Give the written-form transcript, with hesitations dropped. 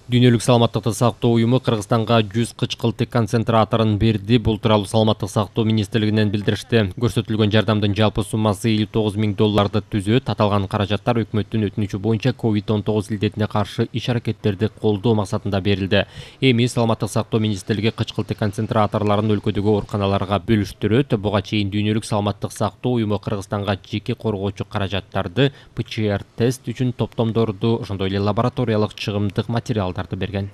Дүйнөлүк саламаттыкты сактоо уюму Кыргызстанга 100 кычкылтык концентраторун берди. Бул тууралуу Саламаттык сактоо министрлигинен билдиришти. Көрсөтүлгөн жардамдын жалпы суммасы $59.000 түзөт. Аталган каражаттар өкмөттүн өтүнүчү боюнча COVID-19 илдетине каршы иш-аракеттерди колдоо максатында берилди. Эми Саламаттык сактоо министрлиги кычкылтык концентраторлорун өлкөдөгү ооруканаларга бөлүштүрөт. Буга чейин Дүйнөлүк саламаттык сактоо уюму Кыргызстанга жеке коргоочу каражаттарды, ПЧР тест үчүн топтомдорду, ошондой эле лабораториялык чыгымдык материалдарды берген.